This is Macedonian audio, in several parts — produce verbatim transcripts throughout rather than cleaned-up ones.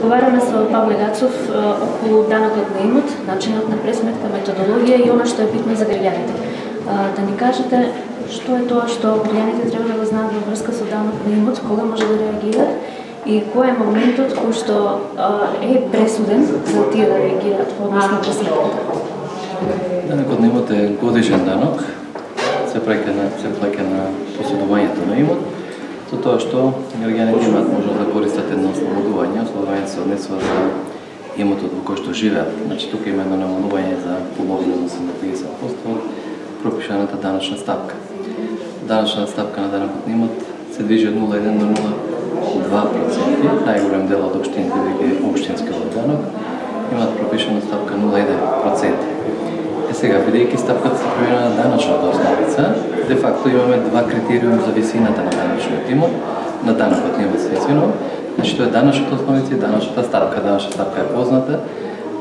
разговараме со Павле Гацов околу данокот на имот, начинот на пресметка, методологија и она што е битно за граѓаните. Да ни кажете што е тоа што граѓаните треба да го знаат во врска со данок на имот, кога може да реагираат и кој е моментот кој што е пресуден за тие да реагираат во однос на пресметката. Данокот на имот е годишен данок, се плаќа на се плаќа на поседувањето на имот. Со тоа што граѓаните имаат можност да користат едно ослободување, ослободувањето се однесува за имотот во кој што живеат. Значи тука има едно намалување за половина, односно на триесет проценти од пропишаната даночна стапка. Даночна стапка на данокот на имот се движи од нула еден до нула два проценти. Најголем дел од општините, веќе општинскиот данок, имаат пропишана стапка нула еден проценти. Е сега, бидејќи стапката се променува на даночната основица, де факто имаме два критериуми за висината на даночниот имот, на данокот на имот естествено. Значи тоа е даночната основица и даночната стапка. Даночната стапка е позната.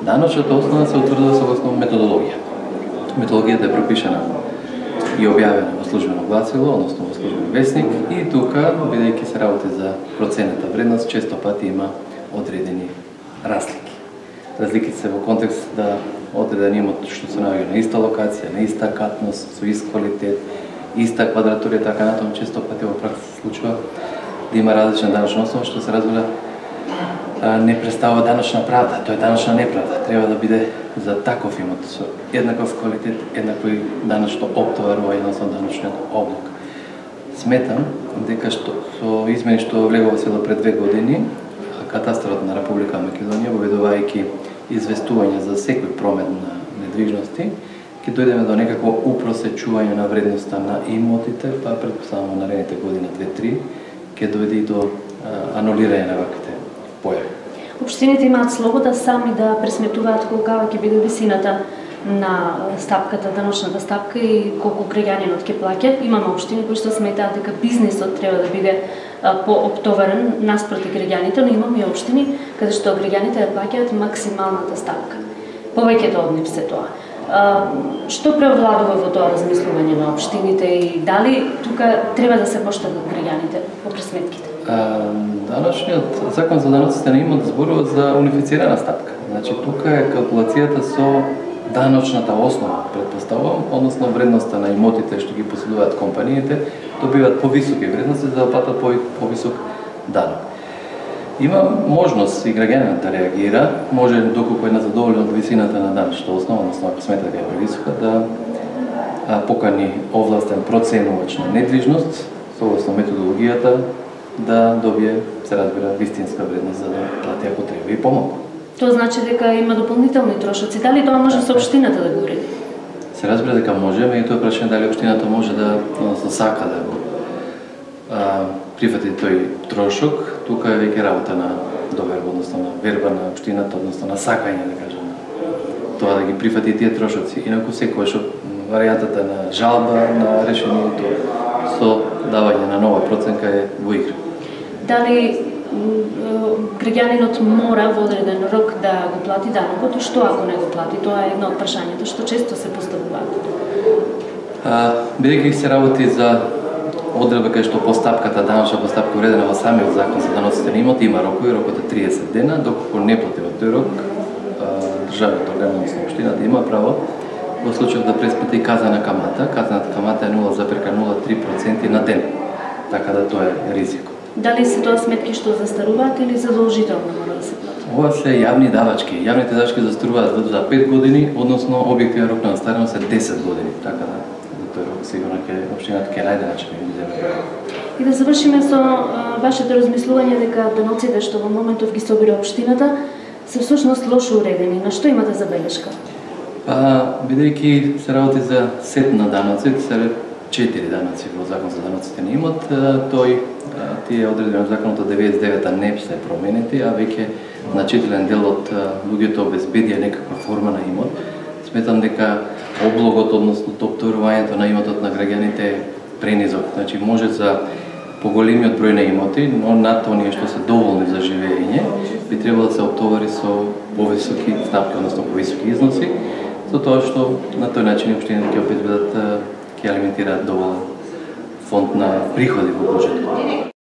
Даночната основа се утврдува согласно методологија. Методологијата е пропишана и објавена во службено гласило, односно во службен весник, и тука, бидејќи се работи за проценета вредност, често пати има одредени разлики. Разликите се во контекст да одреден имот што се наоѓа на иста локација, на иста катност, со ист квалитет, иста квадратура и така натаму, често пати во пракса се случува да има различна даночна основа, што се разбира не представува даночна правда, тоа е даночна неправда. Треба да биде за таков имот со еднаков квалитет, еднакви даночно оптоварување, односно даночниот облог. Сметам дека што со измени што влегува во сила пред две години, Катастарот на Република Македонија, воведувајќи известување за секој промет на недвижности, ќе дојдеме до некакво упросечување на вредноста на имотите, па претпоставувам наредните година две-три, ќе дојде и до а, анулирање на ваквите појави. Општините имаат слобода сами да пресметуваат колкава ќе биде висината на стапката, даночната стапка и колку граѓанинот ќе плаќа. Имаме општини кои што сметаат дека бизнисот треба да биде пооптоварен наспроти граѓаните, но имаме и општини каде што граѓаните ја плаќаат максималната стапка. Повеќето од нив се тоа. А, што преовладува во тоа размислување на општините и дали тука треба да се поштедат граѓаните по пресметките? А, даночниот закон за даноците на имот зборува за унифицирана стапка. Значи тука е калкулацијата со даночната основа, претпоставувам, односно вредноста на имотите што ги поседуваат компаниите, добиваат повисоки вредности за да платат повисок данок. Има можност и граѓанинот да реагира, може доколку е незадоволен од висината на даночната основа, односно ако смета дека е превисока, да покани овластен проценувач на недвижност, согласно методологијата, да добие, се разбира, вистинска вредност за да плати ако треба и помалку. Тоа значи дека има дополнителни трошоци. Дали тоа може со општината да го уреди? Се разбира дека може, меѓутоа прашање дали општината може да, односно сака да го а, прифати тој трошок. Тука е веќе работа на доверба, односно на верба на општината, односно на сакање, да кажем, тоа да ги прифати тие трошоци. Инаку секогаш варијантата на жалба на решението со давање на нова проценка е во игра. Дали граѓанинот мора во одреден рок да го плати данокот и што ако не го плати? Тоа е едно од прашањата што често се поставуваат. Бидејќи се работи за одредба кај што постапката, даночна постапка уредена во самиот закон за даноците на имот, има рокови, рокот е триесет дена, доколку не плати во тој рок, државниот орган, односно општината има право во случај да пресмети казана камата. Казаната камата е нула запирка нула три проценти на ден, така да тоа е ризико. Дали се тоа сметки што застаруваат или задолжително мора да се плати? Ова се јавни давачки. Јавните давачки застаруваат за пет години, односно објективен рок на застареност е десет години. Така да за тој рок сигурно ќе општината ќе најде начин да ги земе. И да завршиме со а, вашето размислување дека даноците што во моментов ги собира општината се всушност лошо уредени. На што имате забелешка? Па, бидејќи се работи за сет на даноци, се четири даноци во закон за даноците на имот, тој тие одредби на законот од деветдесет и девета не се променети, а веќе значителен дел од луѓето обезбедија некаква форма на имот. Сметам дека облогот, односно оптоварувањето на имотот на граѓаните е пренизок. Значи може за поголемиот број на имоти, но над оние што се доволни за живење, би требало да се оптовари со повисоки стапки, односно повисоки износи, за тоа што на тој начин општините ќе обезбедат, ќе алиментираат доволен фонд на приходи во буџетот.